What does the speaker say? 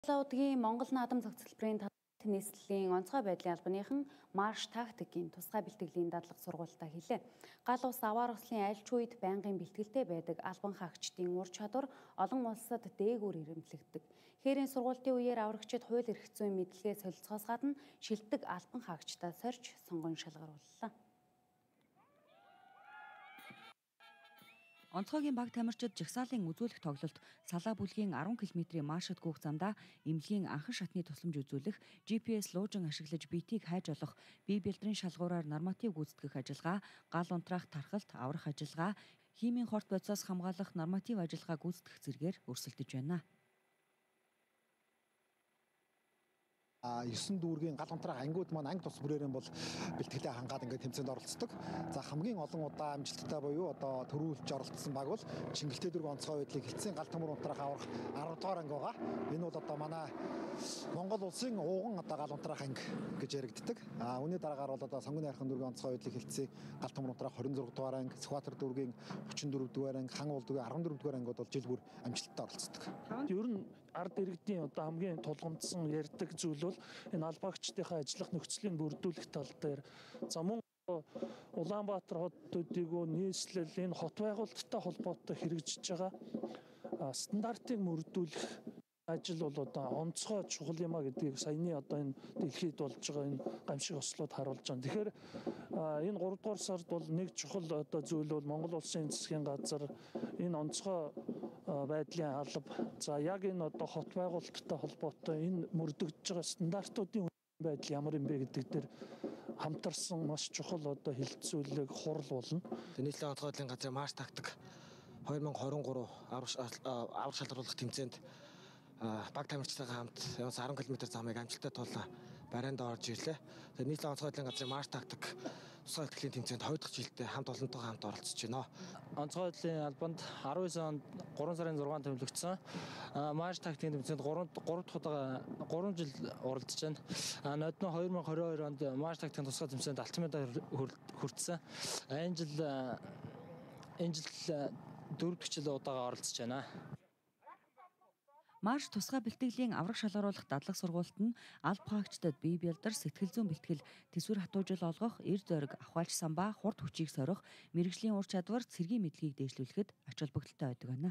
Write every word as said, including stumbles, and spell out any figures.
Удгийн Монгол наадам зохицолборын нийслэлийн онцгой байдлын албаныхан марш тактикийн тусгай бэлтгэлийн дадлага сургуультаа хэлээ. Гал ус аваар ослын альч үед байнгын бэлтгэлтэй байдаг албан хаагчдын ур чадвар олон улсад дээгүүр ирэмтлэгддэг. Хээрийн сургуулийн үеэр аврагчид хууль эрх зүйн мэдлэгээ солилцохоос гадна шилдэг албан хаагчдаа сорьж сонгон шалгарууллаа. Онцгойгийн баг тамирчид жагсаалын үзүүлэх тоглолт салаа бүлгийн арван километрийн маршрут гүйх замдаа эмнэлгийн анхан шатны тусламж үзүүлэх, жи пи эс луужин ашиглаж биетийг хайж олох, бие бэлдрийн шалгуураар норматив гүйцэтгэх ажиллагаа, гал унтраах тархалт, аврах ажиллагаа, химийн хорт бодисоос хамгаалах норматив ажиллагаа гүйцэтгэх зэргээр өрсөлдөж байна. есөн дүүргийн гал унтраах ангиуд маань анги тус бүрээрэн бол бэлтгэлээ хангаад ингээд тэмцээнд оролцдог. За хамгийн олон удаа амжилттай буюу одоо төрүүлж оролцсон баг бол Чингэлтэй дүүргийн онцгой байдлыг хилцэн гал төмөр унтраах аврах арав дахь анги байгаа. Энэ бол одоо манай Монгол улсын ууган одоо гал унтраах анги гэж яригддаг. А үүний дараагаар бол одоо Сонгоны хайрхан дүүргийн онцгой байдлыг хилцэн гал төмөр унтраах хорин зураг дугаар анги, Сүхбаатар дүүргийн хүчин дөрөв дугаар анги, Хан уул дүүргийн арван дөрөв дугаар ангиуд бол жил бүр амжилттай оролцдог. Ер нь ард иргэдийн одоо хамгийн тулгамдсан ярьдаг зүйл энэ албаагчдынхаа ажиллах нөхцөлийг бүрдүүлэх тал дээр за мөн Улаанбаатар хотуудыг нийслэл энэ хот байгуулалттай холбоотой хэрэгжиж байгаа стандартыг мөрдүүлэх ажил бол одоо онцгой чухал юм а гэдгийг саяны одоо энэ дэлхийд болж байгаа энэ гамшиг ослууд харуулж байна. Тэгэхээр энэ гурав дугаар сард бол нэг чухал одоо зүйл бол Монгол улсын засгийн газар энэ онцгой байдлын алба за яг энэ одоо хот байгуулалттай холбоотой энэ мөрдөгдөж байгаа стандартуудын байдал ямар юм бэ гэдэг дээр хамтарсан маш чухал одоо хилцүүлэг хурал болно. Нийслэлийн онцгой байдлын газрын марш тактик две тысячи двадцать три аврах шалгаруулах тэмцээнд баг тамирчдаагаа хамт арван километр замыг амжилттай тулаа барайнд орж ирлээ. Тэгээд нийслэлийн онцгой байдлын газрын марш тактик тусгай бэлтгэлийн тэмцээнд хоёр дахь жилдээ хамт олонтойгоо хамт оролцож байна. Онцгой байдлын албанд арван девять онд гурван сарын зургаанд төвлөгдсөн. Марш тактикийн тэмцээнд гурав дахь удаа гурван жил оролцож байна. Нодно две тысячи двадцать two онд марш тактикийн тусгай тэмцээнд алтан медаль хүртсэн. Энэ жил энэ жил дөрөв дахь жил удаага оролцож байна. Марш тусгай бэлтгэлийн аврах шалгаруулах дадлага сургуульд нь алба хаагчдад бие бэлдэр, сэтгэл зүйн бэлтгэл, төсвөр хатуужил олгох, эр зориг, авахайлч самбаа, хурд хүчийг сорих, мэрэгжлийн ур чадвар, цэргийн мэдлэгийг дээшлүүлэхэд ач холбогдолтой байдаг байна.